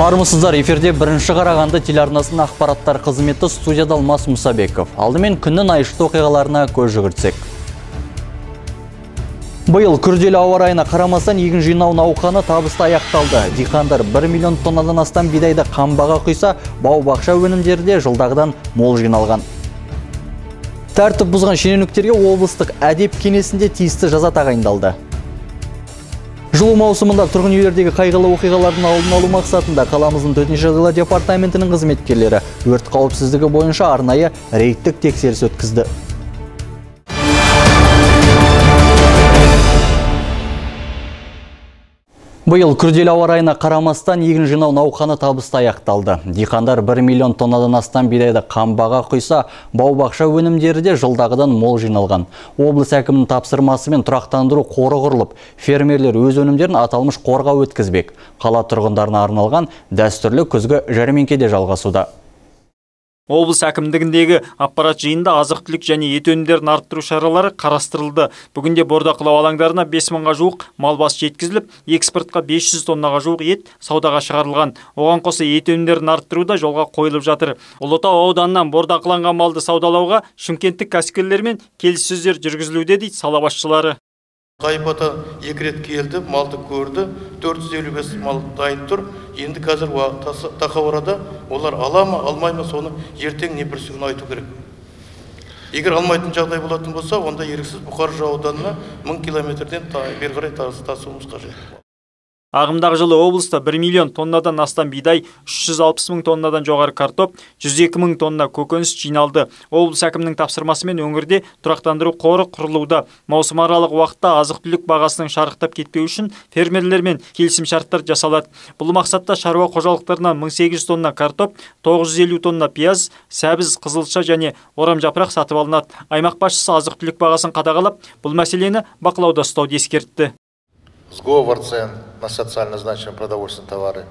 Армысыздар, эфирде бірінші Қарағанды телеарнасының ақпараттар қызметі, студияда Алмас Мұсабеков. Алдымен күннің айшықты оқиғаларына көз жүгіртсек. Биыл күрделі ауа райына қарамастан егін жинау науқаны табысты аяқталды. Диқандар 1 миллион тоннадан астам бидайды қамбаға құйса, бау-бақша өнімдері де жылдағыдан мол жиналған. Тәртіп бұзған шенеуніктерге облыстық әдеп кеңесінде тиісті жаза тағайындалды. Жылу маусымында тұрғын үйлердегі қайғылы оқиғалардың алдын алу мақсатында қаламыздың төтенше жағдайлар департаментінің қызметкерлері өрт қауіпсіздігі бойынша арнайы рейдтік тексеріс өткізді. Биыл күрделі ауа райына қарамастан егін жинау науқаны табысты аяқталды. Диқандар 1 миллион тоннадан астам бидайды қамбаға құйса, бау-бақша өнімдері де жылдағыдан мол жиналған. Облыс әкімінің тапсырмасымен тұрақтандыру қоры құрылып, фермерлер өз өнімдерін аталмыш қорға өткізбек. Қала тұрғындарына арналған дәстүрлі күзгі жәрмеңкеде жалғасуда. Облыс әкімдігіндегі аппарат жиында азық-түлік және ет өнімдерін арттыру шаралары қарастырылды. Бүгінде бордақылау алаңдарына 5000-ға жуық мал басы жеткізіліп, экспортқа 500 тоннаға жуық ет саудаға шығарылған. Оған қоса ет өнімдерін арттыру да жолға қойылып жатыр. Ұлытау ауданынан бордақыланған малды саудалауға шымкенттік кәсіпкерлермен келіссөздер жүргізілуде дейді сала басшылары. Қайпата 2 рет келді, малды көрді, 455 мал дайын тұр. Енді қазір тақауырада олар ала ма, алмай ма, соны ертең не бірсігін айту керек. Егер алмайтын жағдай болатын болса, онда еріксіз Бұқар ауданына 1000 километрден бері қарай тасуымыз қажет. Ағымдағы жылы облыста 1 миллион тоннадан астам бидай, 360 мың тоннадан жоғары картоп, 102 мың тонна көкөніс жиналды. Облыс әкімінің тапсырмасымен өңірде тұрақтандыру қоры құрылуда. Маусым аралық уақытта азық-түлік бағасының шарықтап кетпеу үшін фермерлермен келісім шарттар жасалады. Бұл мақсатта шаруа қожалықтарынан 1800 тонна картоп, 950 тонна пияз, сәбіз, қызылша және орам жапырақ сатып алынады. Аймақ басшысы азық-түлік бағасын қадағалап, бұл мәселені бақылауда ұстауды ескертті. Сговор цен на социально значимые продовольственные товары.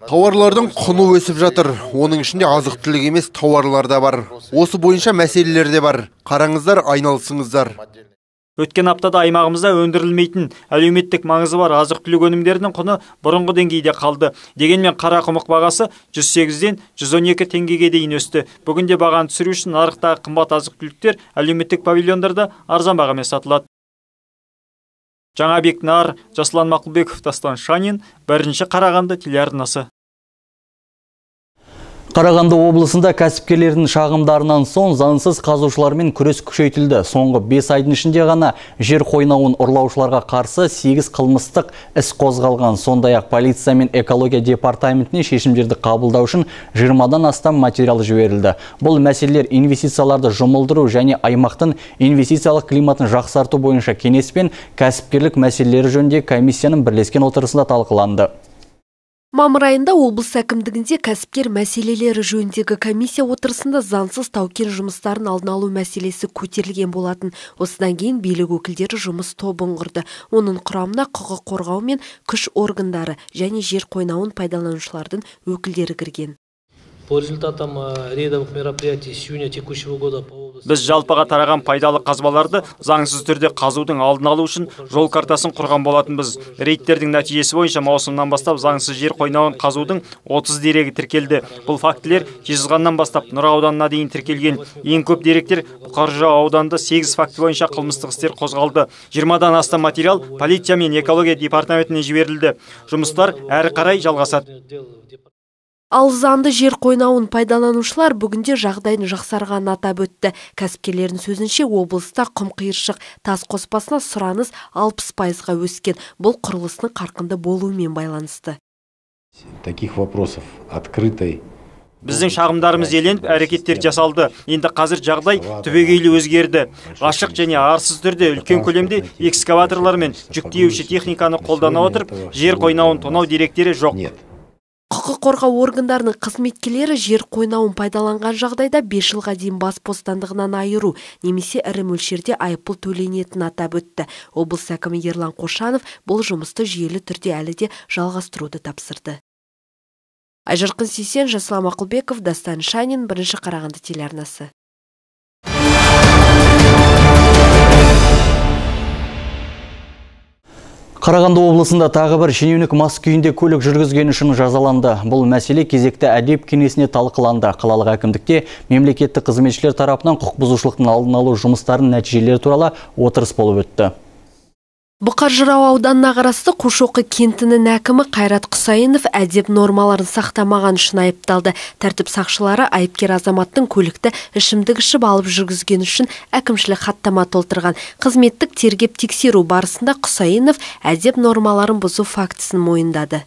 Тауарлардың құны өсіп жатыр. Оның ішінде азық-түлік емес тауарлар да бар. Осы бойынша мәселелер де бар. Қараңыздар, айналысыңыздар. Өткен аптада аймағымызда өндірілмейтін әлеуметтік маңызы бар азық-түлік өнімдерінің құны бұрынғы деңгейде қалды. Дегенмен қара құмық бағасы 108-ден 112 теңгеге дейін өсті. Бүгінде бағаны түсіру үшін нарықтағы қымбат азық-түліктер әлеуметтік павильондарда арзан бағамен сатылады. Жаңабек Нар, Жасұлан Мақұлбеков, Дастан Шанин, бірінші Қарағанды телеарнасы. Қарағанды облысында кәсіпкерлердің шағымдарынан соң заңсыз қазушылармен күрес күшейтілді. Соңғы 5 айдың ішінде ғана жер қойнауын ұрлаушыларға қарсы 8 қылмыстық іс қозғалған. Сондай-ақ полиция мен экология департаментіне шешімдерді қабылдау үшін 20-дан астам материал жіберілді. Бұл мәселелер инвестицияларды жұмылдыру және аймақтың инвестициялық климатын жақсарту бойынша кеңес пен кәсіпкерлік мәселелері жөнінде комиссияның бірлескен отырысында талқыланды. Мамыр айында облыс әкімдігінде кәсіпкер мәселелері жөніндегі комиссия отырысында заңсыз тау-кен жұмыстарын алдын алу мәселесі көтерілген болатын. Осыдан кейін билік өкілдері жұмыс тобын құрды. Оның құрамына құқық қорғау мен күш органдары және жер қойнауын пайдаланушылардың өкілдері кірген. По результатам рейдовых мероприятий с июня текущего года по области... Біз жалпыға тараған пайдалы қазбаларды заңсыз түрде қазудың алдын алу үшін жол картасын құрған болатынбыз. Рейдтердің нәтижесі бойынша маусымнан бастап заңсыз жер қойнауын қазудың 30 дерегі тіркелді. Бұл фактілер Жезқазғаннан бастап Нұра ауданына дейін тіркелген. Ең көп деректер Бұқар ауданында 8 факті бойынша қылмыстық істер қозғалды. 20-дан астам материал полиция мен экология департаментіне жіберілді. Жұмыстар әрі қарай жалғасады. Ал заңды жер қойнауын пайдаланушылар бүгінде жағдайын жақсарғанын атап өтті. Кәсіпкерлердің сөзінше облыста құм қиыршық тас қоспасына сұраныс 60%-ға өскен. Бұл құрылысының қарқынды болуымен байланысты. Таких вопросов открытой. Біздің шағымдарымыз еленіп, әрекеттер жасалды. Енді қазір жағдай түбегейлі өзгерді. Ашық және арсыз түрде үлкен көлемде экскаваторлар мен жүк тиеуші техниканы қолдана отырып, жер қойнауын тонау деректері жоқ. Құқық қорғау органдарының қызметкерлері жер қойнауын пайдаланған жағдайда 5 жылға дейін бас бостандығынан айыру немесе ірі мөлшерде айыппұл төленетінін атап өтті. Облыс әкімі Ерлан Қошанов бұл жұмысты жүйелі түрде әлі де жалғастыруды тапсырды. Айжарқын Сейсен, Жасұлан Мақұлбеков, Дастан Шанин, бірінші Қарағанды телеарнасы. Қарағанды облысында тағы бір шенеунік мас күйінде көлік жүргізгені үшін жазаланды. Бұл мәселе кезекті әдеп кеңесіне талқыланды. Қалалық әкімдікте мемлекеттік қызметшілер тарапынан құқық бұзушылықтың алдын алу жұмыстарының нәтижелері туралы отырыс болып өтті. Бұқар Жырау ауданына қарасты Қушоқы кентінің әкімі Қайрат Құсайынов әдеп нормаларын сақтамаған үшін айыпталды. Тәртіп сақшылары айыпкер азаматтың көлікті ішімдік ішіп алып жүргізген үшін әкімшілік хаттама толтырған. Қызметтік тергеп тексеру барысында Құсайынов әдеп нормаларын бұзу фактісін мойындады.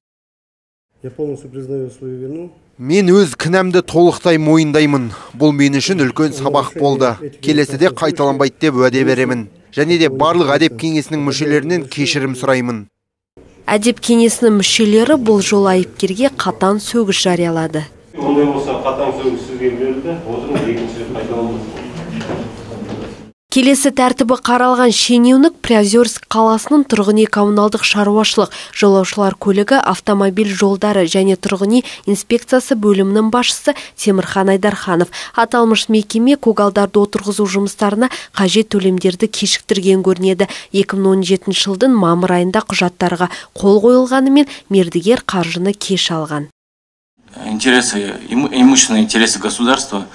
Мен өз кінәмді толықтай мойындаймын. Бұл мен үшін үлкен сабақ болды. Келесіде қайталанбайды деп уәде беремін. Және де барлық әдеп кеңесінің мүшелерінен кешірім сұраймын. Әдеп кеңесінің мүшелері бұл жол айыпкерге қатаң сөгіс жариялады. Ондай болса қатаң сөгіс сізге берілді, отырыңыз, екінші рет қайталанбайды. Келесі тәртібі қаралған шенеунік Приозерск қаласының тұрғын үй коммуналдық шаруашылық, жолаушылар көлігі, автомобиль жолдары және тұрғын үй инспекциясы бөлімінің басшысы Темірхан Айдарханов. Аталмыш мекеме көгалдарды отырғызу жұмыстарына қажет төлемдерді кешіктірген көрінеді. 2017 жылдың мамыр айында құжаттарға қол қойылғанымен мердігер қаржыны кеш алған. Имущественные интересы государства,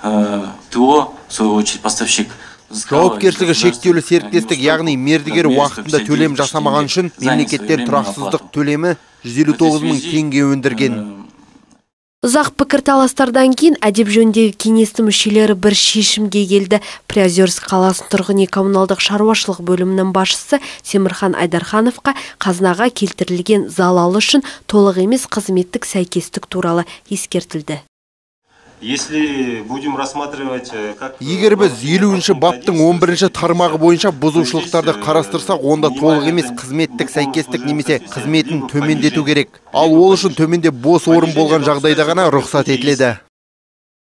ТО, в свою очередь, поставщик. Жауапкершілігі шектеулі серіктестік, яғни мердігер уақытында төлем жасамаған үшін мемлекеттен тұрақсыздық төлемі 159 мың теңге өндірген. Ұзақ пікірталастардан кейін әдеп жөніндегі кеңестің мүшелері бір шешімге келді. Приозерск қаласының тұрғын үй коммуналдық шаруашылық бөлімінің басшысы Темірхан Айдархановқа қазынаға келтірілген залал үшін толық емес қызметтік сәйкестік туралы ескертілді. Если будем рассматривать, Егер біз 50-ші баптың 11-ші тармағы бойынша бұзушылықтарды қарастырсақ, онда толық емес қызметтік сәйкестік немесе қызметін төмендету керек. Ал ол үшін төменде бос орын болған жағдайда ғана рұқсат етіледі.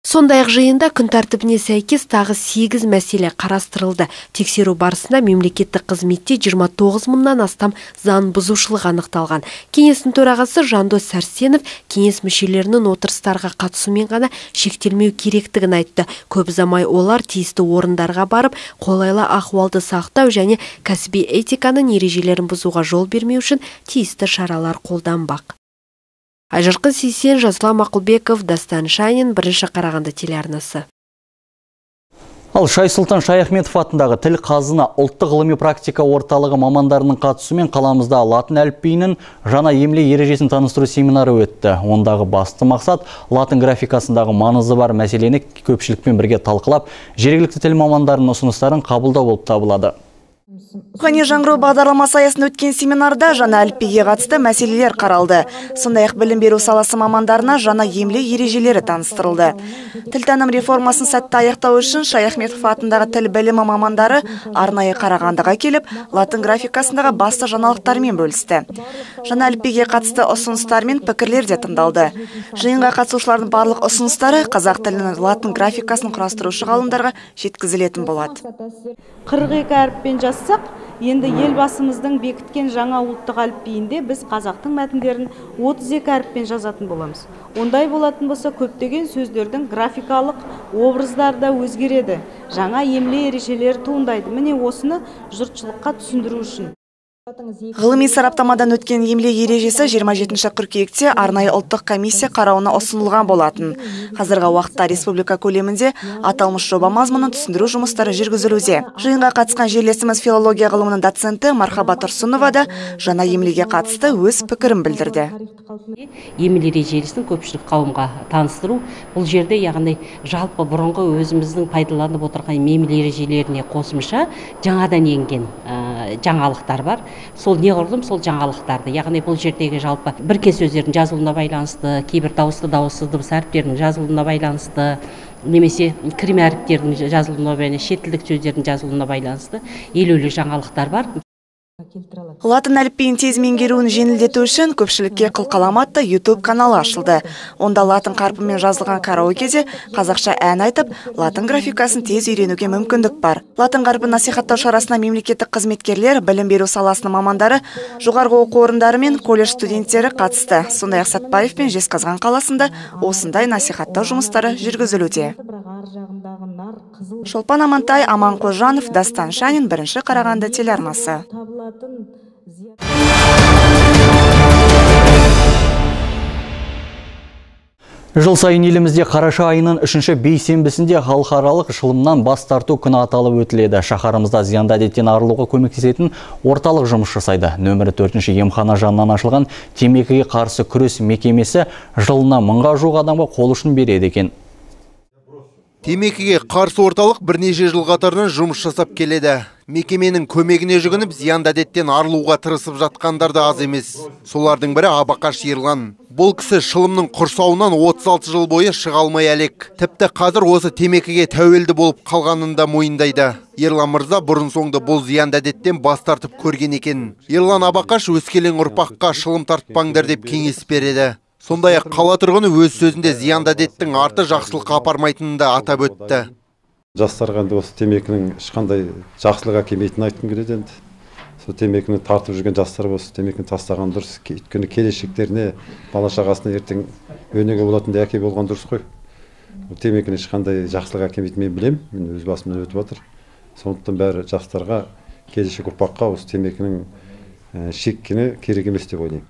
Сондай-ақ жиында күн тәртібіне сәйкес тағы 8 мәселе қарастырылды. Тексеру барысында мемлекеттік қызметте 29 мыңнан астам заң бұзушылық анықталған. Кеңестің төрағасы Жандос Сәрсенов кеңес мүшелерінің отырыстарға қатысумен ғана шектелмеу керектігін айтты. Көп ұзамай олар тиісті орындарға барып, қолайлы ахуалды сақтау және кәсіби этиканың ережелерін бұзуға жол бермеу үшін тиісті шаралар қолданбақ. Айжарқын Сейсен, Жасұлан Мақұлбеков, Дастан Шайын, бірінші Қарағанды телеарнасы. Ал Шайсұлтан Шаяхметов атындағы тіл қазына ұлттық ғылыми практика орталығы мамандарының қатысуымен қаламызда латын әліпбиінің жаңа емле ережесін таныстыру семинары өтті. Ондағы басты мақсат латын графикасындағы маңызы бар мәселені көпшілікпен бірге талқылап, жергілікті тіл мамандарының ұсыныстарын қабылдау болып табылады. Рухани жаңғыру бағдарламасы аясында өткен семинарда жаңа әліпбиге қатысты мәселелер қаралды. Сондай-ақ білім беру саласы мамандарына жаңа емле ережелері таныстырылды. Тілтаным реформасын сәтті аяқтау үшін Шаяхметов атындағы тіл білімі мамандары арнайы Қарағандыға келіп, латын графикасындағы басты жаңалықтармен бөлісті. Жаңа әліпбиге қатысты ұсыныстар мен пікірлер де тыңдалды. Жиынға қатысушылардың барлық ұсыныстары қазақ тілінің латын графикасын құрастырушы ғалымдарға жеткізілетін болады. 42 әріппен жазсақ, енді елбасымыздың бекіткен жаңа ұлттық әліпбиінде біз қазақтың мәтіндерін 32 әріппен жазатын боламыз. Ондай болатын болса, көптеген сөздердің графикалық образдары да өзгереді. Жаңа емле ережелері туындайды. Міне осыны жұртшылыққа түсіндіру үшін. Ғылыми сараптамадан өткен емле ережесі 27 қыркүйекте арнайы ұлттық комиссия қарауына ұсынылған болатын. Қазіргі уақытта республика көлемінде аталмыш жоба мазмұнын түсіндіру жұмыстары жүргізілуде. Жиынға қатысқан жерлесіміз филология ғылымының доценті Мархаба Тұрсынова да жаңа емлеге қатысты өз пікірін білдірді. Емле ережесін көпшілік қауымға таныстыру, бұл жерде яғни жалпы бұрынғы өзіміздің пайдаланып отырған емле ережелеріне қосымша жаңадан енген жаңалықтар бар. Сол неғұрлым сол жаңалықтарды, яғни бұл жердегі жалпы біркез сөздердің жазылуына байланысты, кейбір дауысты дауыссыз дыбыс әріптерінің жазылуына байланысты, немесе кірме әріптердің жазылуына байланысты, шет тілдік сөздердің жазылуына байланысты елеулі жаңалықтар бар. Латын әліпбиін тез меңгеруін жеңілдету үшін көпшілікке қылқалам атты YouTube каналы ашылды. Онда латын қарпымен жазылған караокеде қазақша ән айтып, латын графикасын тез үйренуге мүмкіндік бар. Латын қарпын насихаттау шарасына мемлекеттік қызметкерлер, білім беру саласының мамандары, жоғарғы оқу орындары мен колледж студенттері қатысты. Сондай-ақ Сәтпаев пен Жезқазған қаласында осындай насихаттау жұмыстары жүргізілуде. Шолпан Амантай, Аман Қожанов, Дастан Шанин, бірінші Қарағанды телеарнасы. Жыл сайын елімізде қараша айының 3-ші бейсенбісінде халықаралық шылымнан бас тарту күні аталып өтіледі. Шаһарымызда зиянды әдеттен арылуға көмектесетін орталық жұмыс жасайды. Нөмірі 4-ші емхана жанынан ашылған темекіге қарсы күрес мекемесі жылына 1000-ға жуық адамға қол ұшын береді екен. Темекіге қарсы орталық бірнеше жыл қатарынан жұмыс жасап келеді. Мекеменің көмегіне жүгініп, зиянды әдеттен арылуға тырысып жатқандар да аз емес. Солардың бірі Абақаш Ерлан. Бұл кісі шылымның құрсауынан 36 жыл бойы шыға алмай әлек. Тіпті қазір осы темекіге тәуелді болып қалғанын да мойындайды. Ерлан мырза бұрын соңды бұл зиянды әдеттен бас тартып көрген екен. Ерлан Абақаш өскелең ұрпаққа шылым тартпаңдар деп кеңес береді. Сондай-ақ қала тұрғыны өз сөзінде зиянды әдеттің арты жақсылыққа апармайтынын да атап өтті. Жастарға осы темекінің ешқандай жақсылық әкелмейтінін айтқым келеді енді. Сол темекіні тартып жүрген жастар осы темекіні тастаған дұрыс. Өйткені келешектеріне, бала шағасына ертең өнеге болатындай әке болған дұрыс қой. Темекіні ешқандай жақсылық әкелмейтінін мен білемін, мен өз басымнан өтіп жатыр. Сондықтан бәрі жастарға, келешек ұрпаққа осы темекінің шеккені керек емес деп ойлаймын.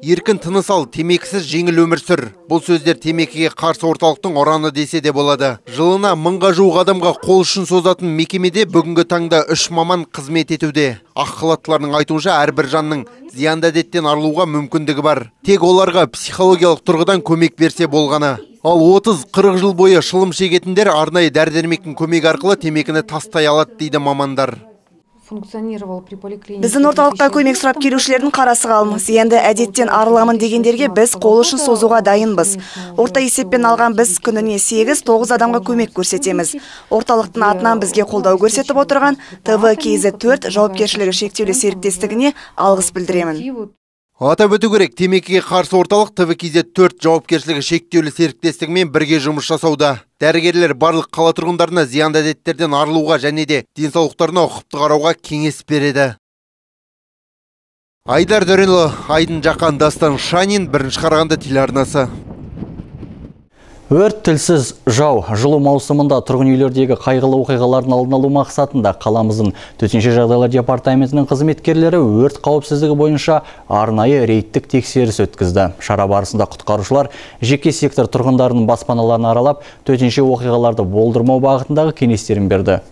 Еркін тыныс ал, темекісіз жеңіл өмір сүр. Бұл сөздер темекіге қарсы орталықтың ұраны десе де болады. Жылына 1000-ға жуық адамға қол ұшын созатын мекемеде бүгінгі таңда 3 маман қызмет етуде. Ақ халаттылардың айтуынша әрбір жанның зиянды әдеттен арылуға мүмкіндігі бар. Тек оларға психологиялық тұрғыдан көмек берсе болғаны. Ал 30-40 жыл бойы шылым шегетіндер арнайы дәрі-дәрмектің көмегі арқылы темекіні тастай алады дейді мамандар. Біздің орталыққа көмек сұрап келушілердің қарасы қалың. Зиянды әдеттен арыламын дегендерге біз қол ұшын созуға дайынбыз. Орта есеппен алған біз күніне 8-9 адамға көмек көрсетеміз. Орталықтың атынан бізге қолдау көрсетіп отырған ТВКЗ4 жауапкершілігі шектеулі серіктестігіне алғыс білдіремін. Атап өту керек, темекіге қарсы орталық ТВКЗ4 жауапкершілігі шектеулі серіктестігімен бірге жұмыс жасауда. Дәрігерлер барлық қала тұрғындарына зиянды әдеттерден арылуға және де денсаулықтарына ұқыпты қарауға кеңес береді. Айдар Дөренұлы, Айдын Жақан, Дастан Шанин, Бірінші Қарағанды телеарнасы. Өрт тілсіз жау жылу маусымында тұрғын үйлердегі қайғылы оқиғалардың алдын алу мақсатында қаламыздың төтенше жағдайлар департаментінің қызметкерлері өрт қауіпсіздігі бойынша арнайы рейдтік тексеріс өткізді. Шара барысында құтқарушылар жеке сектор тұрғындарының баспаналарын аралап, төтенше оқиғаларды болдырмау бағытындағы кеңестерін берді.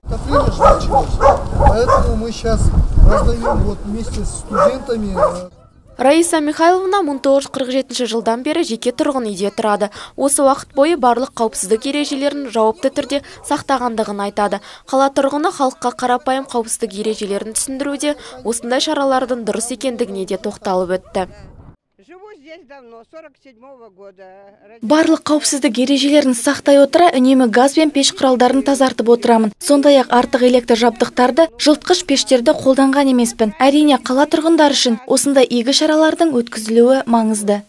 Поэтому мы сейчас раздаем вместе с студентами. Раиса Михайловна 1947 жылдан бері жеке тұрғын үйде тұрады. Осы уақыт бойы барлық қауіпсіздік ережелерін жауапты түрде сақтағандығын айтады. Қала тұрғыны халыққа қарапайым қауіпсіздік ережелерін түсіндіруде, осындай шаралардың дұрыс екендігіне де тоқталып өтті. Барлық қауіпсіздік ережелерін сақтай отыра, үнемі газ бен пеш құралдарын тазартып отырамын. Сондай-ақ артық электр жабдықтарды, жылытқыш пештерді қолданған емеспін. Әрине, қала тұрғындары үшін осындай игі шаралардың өткізілуі маңызды.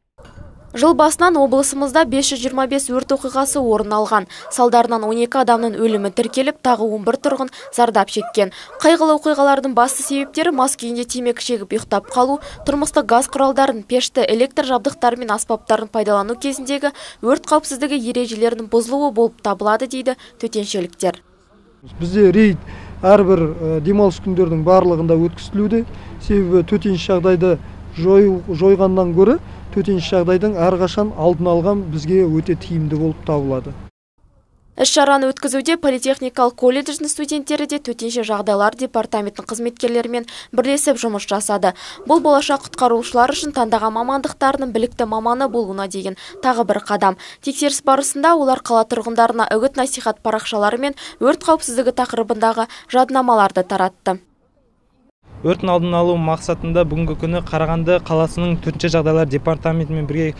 Жыл басынан облысымызда 525 өрт оқиғасы орын алған. Салдарынан 12 адамның өлімі тіркеліп, тағы 11 тұрғын зардап шеккен. Қайғылы оқиғалардың басты себептері мас күйінде темекі шегіп ұйықтап қалу, тұрмыстық газ құралдарын, пешті, электр жабдықтары мен аспаптарын пайдалану кезіндегі өрт қауіпсіздігі ережелерінің бұзылуы болып табылады дейді төтеншеліктер. Бізде рейд әрбір демалыс күндердің барлығында өткізілуде. Себебі төтенше жағдайды жойғаннан гөрі төтенше жағдайдың әрқашан алдын алған бізге өте тиімді болып табылады. Іс-шараны өткізуде политехникалық колледждің студенттері де төтенше жағдайлар департаментінің қызметкерлерімен бірлесіп жұмыс жасады. Бұл болашақ құтқарушылар үшін таңдаған мамандықтарының білікті маманы болуына деген тағы бір қадам. Тексеріс барысында олар қала тұрғындарына үгіт-насихат парақшалары мен өрт қауіпсіздігі тақырыбындағы жадынамаларды таратты. Өрттің алдын алу мақсатында бүгінгі күні Қарағанды қаласының төтенше жағдайлар департаментімен бірге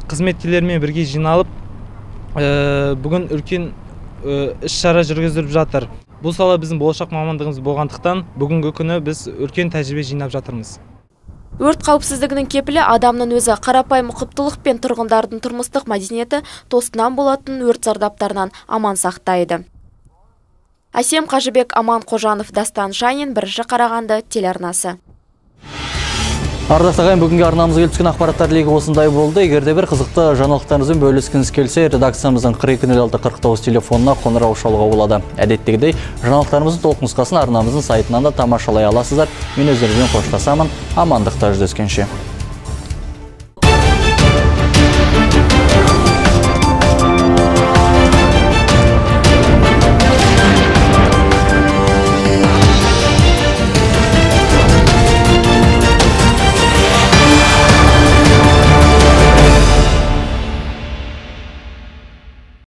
қызметкерлермен бірге жиналып, бүгін үлкен іс-шара жүргізіліп жатыр. Бұл сала біздің болашақ мамандығымыз болғандықтан, бүгінгі күні біз үлкен тәжірибе жинап жатырмыз. Өрт қауіпсіздігінің кепілі адамның өзі. Қарапайым ұқыптылық пен тұрғындардың тұрмыстық мәдениеті тосыннан болатын өрт зардаптарынан аман сақтайды. Әсем Қажыбек, Аман Қожанов, Дастан Шанин, Бірінші Қарағанды телеарнасы. Ардақты ағайын, бүгінгі арнамызға келіп түскен ақпараттар легі осындай болды. Егерде бір қызықты жаңалықтарыңызбен бөліскіңіз келсе, редакциямыздың 4206-49 телефонына қоңырау шалуға болады. Әдеттегідей, жаңалықтарымыздың толық нұсқасын арнамыздың сайтынан да тамашалай аласыздар. Мен өздеріңізбен қоштасамын. Амандықта жүздескенше.